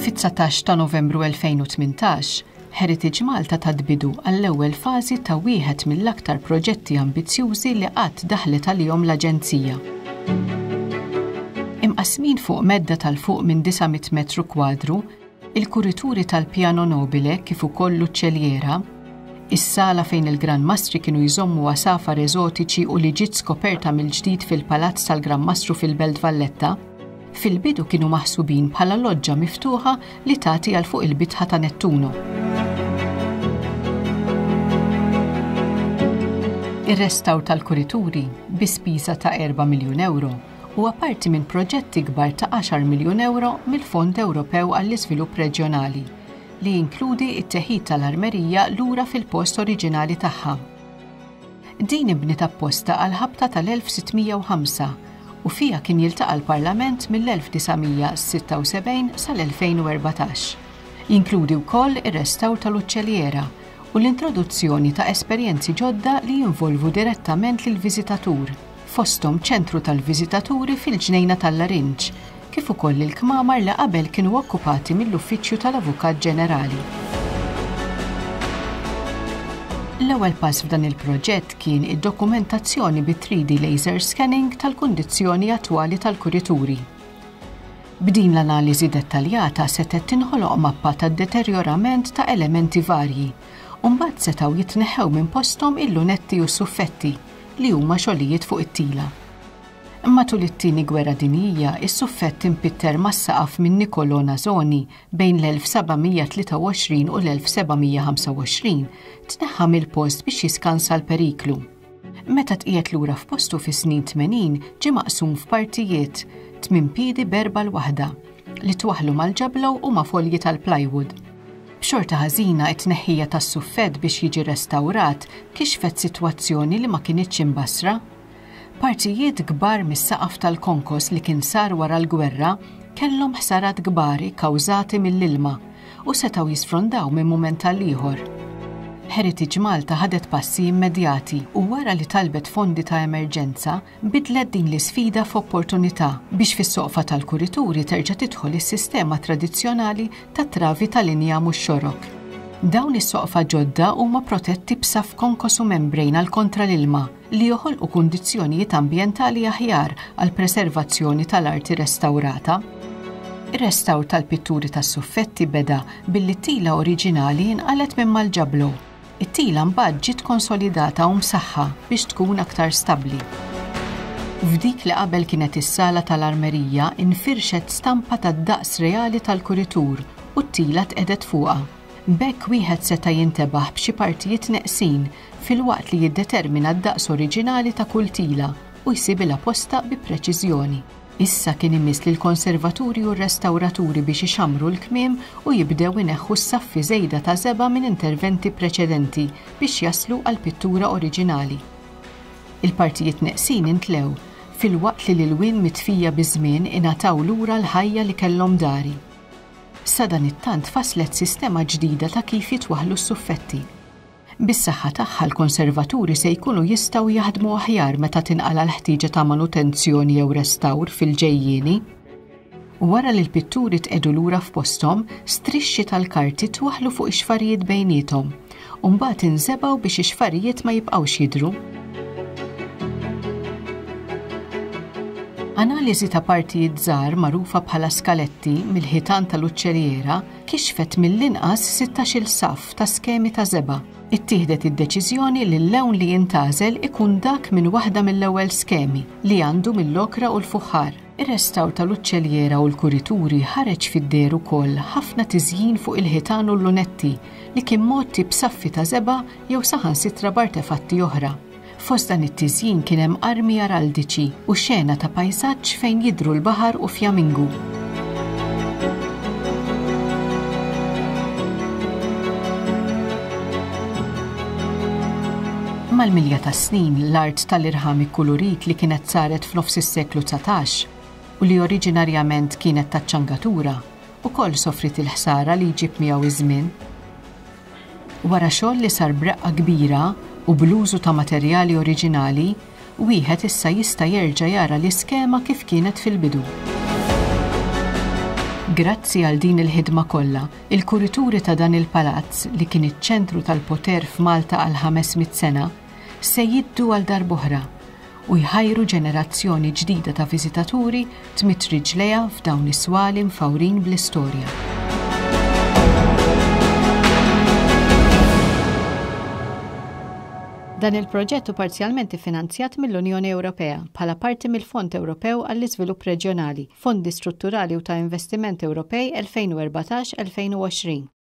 Fit-19 ta' Novembru 2018, Heritage Malta tat bidu għall-ewwel fażi ta' wieħed mill-aktar proġetti ambizzjużi li qatt daħlet għalihom l-Aġenzija. Imqassmin fuq medda tal fuq minn 900 metru kwadru, il-kurituri tal-Piano Nobile kif ukoll l-uċċelliera, is-sala fejn il-Gran Mastri kienu jżommu għasafar eżotiċi u li ġiet skoperta mill-ġdid fil-Palazz tal-Gran Mastru fil-Belt Valletta, fil-bidu kienu maħsubin bħala loġġa miftuħa li tagħti għal fuq il-bitħa ta' Nettuno. Ir-restawr tal-kurituri, bi spiża ta' 4 miljun ewro, huwa parti minn proġett ikbar ta' 10 miljun ewro mill-Fond Ewropew għall-Iżvilupp Reġjonali, li jinkludi t-teħid tal-armerija lura fil-post oriġinali tagħha. Din inbniet apposta għall-ħabta tal-1605 u fiha kien jiltaqa' l-Parlament mill-1976 sal-2014. Jinkludi wkoll ir-restawr tal-uċċelliera u l-introduzzjoni ta' esperjenzi ġodda li jinvolvu direttament lill-viżitatur, fosthom ċentru tal-viżitaturi fil-Ġnejna tal-Larinġ, kif ukoll il-kmamar li qabel kienu okkupati mill-Uffiċċju tal-Avukat Ġenerali. L-ewwel pass f'dan il-proġett kien id-dokumentazzjoni bi 3D laser scanning tal-kundizzjoni attwali tal-kurituri. B'din l-analiżi dettaljata setgħet tinħoloq mappa tad-deterjorament ta' elementi varji u mbagħad setgħu jitneħħew minn posthom il-lunetti u s-suffetti, li huma xogħlijiet fuq it-tila. Matul it-Tieni Gwerra Dinjija, is-suffett impitter mas-saqaf minn Niccolò Nasoni bejn l-1723 u l-1725 tneħħa mill-post biex jiskansa l-periklu. Meta tqiegħed lura f'postu fis-snin 80 ġie maqsum f'partijiet, tmien piedi b'erba' l-waħda, li twaħħlu mal-ġablow u ma' folji tal-plywood. B'xorta ħażina t-tneħħija tas-suffett biex jiġi restawrat kixfet sitwazzjoni li ma kinitx imbassra. Partijiet kbar mis-saqaf tal-konkos li kien sar wara l-gwerra kellhom ħsarat kbar ikkawżati mill-ilma u setgħu jisfrondaw minn mument għal ieħor. Heritage Malta ħadet passi immedjati u wara li talbet fondi ta' emerġenza, bidlet din l-isfida f'opportunità biex fis-soqfa tal-kurituri terġa' tidħol is-sistema tradizzjonali ta' travi tal-injam u x-xorok. Dawn is-soqfa ġodda huma protetti b'saff konkos u membrane għal kontra l-ilma, li joħolqu kundizzjonijiet ambjentali aħjar għall-preservazzjoni tal-arti restawrata. Ir-restawr tal-pitturi tas-suffetti beda billi t-tila oriġinali nqalgħet minn mal-ġablo. It-tila mbagħad ġiet konsolidata u msaħħa biex tkun aktar stabbli. F'dik li qabel kienet is-sala tal-armerija nfirxet stampa tad-daqs reali tal-kuritur u t-tila tqiegħdet fuqha. B'hekk wieħed seta' jintebaħ b'xi partijiet neqsin filwaqt li jiddetermina d-daqs oriġinali ta' kull tila u jsibilha postha bi preċiżjoni. Issa kien imiss lill-konservaturi u r-restawraturi biex ixammru l-kmiem u jibdew ineħħu s-saffi żejda ta' żebgħa minn interventi preċedenti biex jaslu għall-pittura oriġinali. Il-partijiet neqsin intlew, filwaqt li l-ilwien mitfija biż-żmien ingħataw lura l-ħajja li kellhom dari. Sadanittant fasslet sistema ġdida ta' kif jitwaħħlu s-suffetti. Bis-saħħa tagħha l-konservaturi se jkunu jistgħu jaħdmu aħjar meta tinqala' l-ħtieġa ta' manutenzjoni jew restawr fil-ġejjieni. Wara li l-pitturi tqiegħdu lura f'posthom, strixxi tal-karti twaħħlu fuq ix-xfarijiet bejniethom u mbagħad inżebgħu biex ix-xfarijiet ma jibqgħux jidhru. Analiżi ta' partijiet żgħar magħrufa bħala skaletti mill-ħitan tal-uċċelliera kixfet mill-inqas 16-il saff ta' skemi ta' żebgħa. Ittieħdet id-deċiżjoni li l-lewn li jintgħażel ikun dak minn waħda mill-ewwel skemi, li għandu mill-okra u l-fuħħar. Ir-restawr tal-uċċelliera u l-kurituri ħareġ fid-deher ukoll ħafna tiżjin fuq il-ħitan u l-lunetti li kien mgħotti b'saffi ta' żebgħa jew saħansitra b'artefatti oħra. Fost dan it-tiżjin kien hemm armi araldiċi u xena ta' pajsaġġ fejn jidhru l-baħar u fjamingu. Mal-milja tas-snin, l-art tal-irħam ikkulurit li kienet saret f'nofs is-seklu 19 u li oriġinarjament kienet taċ-ċangatura, ukoll sofriet il-ħsara li jġib miegħu iż-żmien. Wara xogħol li sar b'reqqa kbira u bl-użu ta' materjali oriġinali, wieħed issa jista' jerġa' jara l-iskema kif kienet fil-bidu. Grazzi għal din il-ħidma kollha, il-kurituri ta' dan il-palazz li kien iċ-ċentru tal-poter f'Malta għal 500 sena, se jiddu għal darb'oħra u jħajru ġenerazzjoni ġdida ta' viżitaturi tmidd riġlejha f'dawn is-swali mfawrin bl-istorja. Dan il-proġett hu parzjalment iffinanzjat mill-Unjoni Ewropea bħala parti mill-Fond Ewropew għall-Iżvilupp Reġjonali, Fondi Strutturali u ta' Investiment Ewropej 2014-2020.